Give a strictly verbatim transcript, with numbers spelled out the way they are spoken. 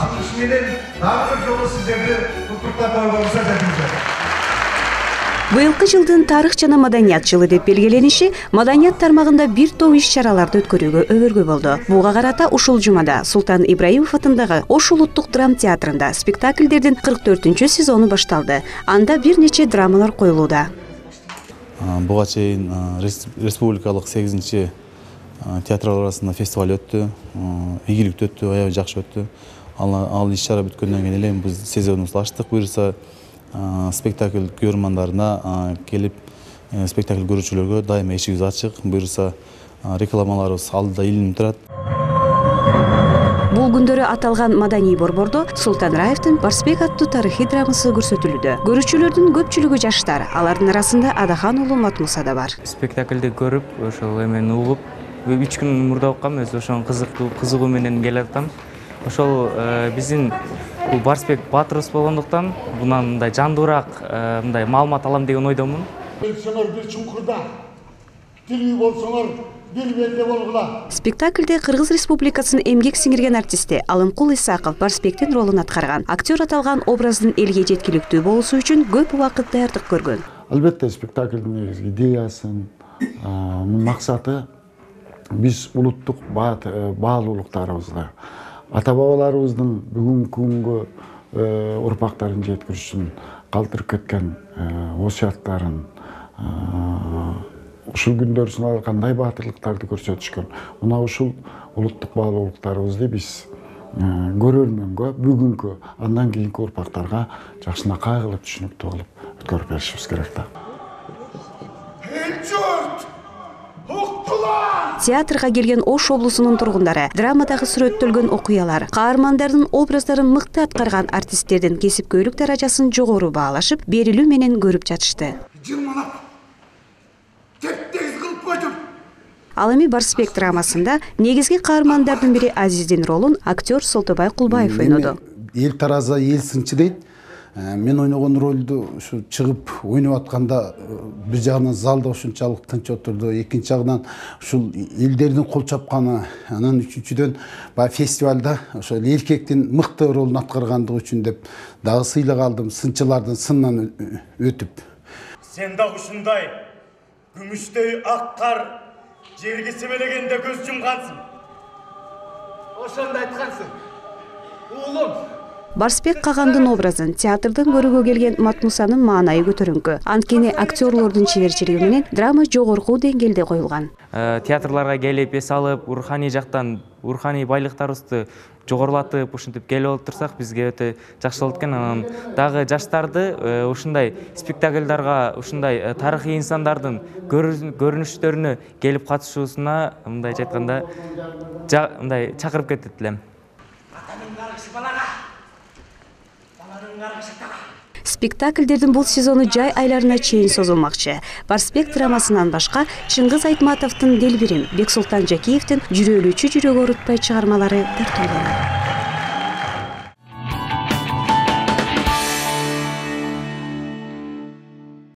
ачылышы менен дагы бир жолу сиздерди куттуктап койгонуңузга жатышат. Быйылкы жылдын тарых жана маданият жылы деп белгилениши маданият тармагында бир топ иш-чараларды өткөрүүгө өбөргө болду. Буга карата ушул жумада Султан Ибраимов атындагы Ош улуттук драма театрында спектакльдердин кырк төртүнчү сезону башталды. Анда бир нече драмалар коюлууда. Буга чейин республикалык сегизинчи театрлар арасында фестиваль өттү. Ийгиликтүү өттү, аябай жакшы өттү. Ал иш-чара бүткөндөн кийин эле биз сезонубузду ачтык. Буюрса спектакль көрөрмандарына келип спектакль көрүүчүлөргө дайыма эшигибиз ачык. Буюрса рекламаларыбыз алдыда илинип турат. Бул күндөрү аталган маданий борбордо Султан Раевдин Барсбек аттуу тарыхый драмасы көрсөтүлүүдө. Көрүүчүлөрдүн көпчүлүгү жаштар, алардын арасында Адахан уулу Матмуса да бар. Спектакльди көрүп, ошол эмени угуп, үч күн мурда уккам, өзү ошонун кызыктуу кызыгуу менен келе атам. Ошол биздин бул Барсбек баатырыбыз болгондуктан мындан мындай жандуураак мындай маалымат алам деген ойдомун. Болсоңор бир чуңкурда, тилүү болсоңор бир белде болгула. Спектакльде Кыргыз Республикасынын эмгек сиңирген артисти Алымкул Исаков Барсбектин ролун аткарган. Актер аталган образдын элге жеткиликтүү болушу үчүн көп убакыт даярдык көргөн. Албетте спектаклдын негизги идеясын, максаты биз улуттук баалуулуктарыбызга, ата-бабаларыбыздын бүгүнкү күнгө урпактарын жеткириш үчүн калтырып кеткен осуяттарын, ушул күндөр сынагы кандай баатырлыктарды көрсөтүшкөн. Мына ушул улуттук баалуулуктарыбызды биз көрөрмөнгө, бүгүнкү, андан кийинки урпактарга жакшынакай кылып түшүнүктүү кылып өткөрүп беришибиз керек да. Театрга келген Ош облусунун тургундары драмадагы сүрөттөлгөн окуялар, каармандардын образдарын мыкты аткарган артисттердин кесипкөйлүк даражасын жогору баалашып, берилүү менен көрүп жатышты. Жылмалап, теп-тегиз кылып койдум. Ал эми Барсбек драмасында негизги каармандардын бири Азиздин ролун актер Солтобай Кулбаев ойноду. Эл тараза, эл сынчы дейт. Мен ойногон ролду ушу чыгып ойноп атканда бир жагынан залда ушунчалык тынч отурду, экинчи жагынан ушул элдердин кол чапканы, анан үчүнчүдөн баягы фестивалда ошол эркектин мыкты ролун аткаргандыгы үчүн деп дагы сыйлык алдым, сынчылардын сынынан өтүп. Сен дагы ушундай күмүштөй ак кар жерге себелегенде көз жумгансың. Ошондо айткансың. Уулум, Барсбек Кагандын образын театрдан көрүүгө келген Матмусанын маанайы көтөрүңкү. Анткени актерлордун чеберчилиги менен драма жогорку деңгээлде коюлган. Театрларга келип эс алып, руханий жактан руханий байлыктарыбызды жогорулатып, ушинтип келип отурсак бизге өтө жакшы болот экен. Анан дагы жаштарды ушундай спектакльдарга, ушундай тарыхый инсандардын көрүнүштөрүнө келип катышуусуна мындайча айтканда мындай чакырып кетет элем. Спектакльдердин бул сезону жай айларына чейин созулмакчы. Барсбек драмасынан башка Чыңгыз Айтматовдун Делбирим, Бексултан Жакиевдин Жүрөөлүүчү жүрөк оорутпай чыгармалары тартууланат.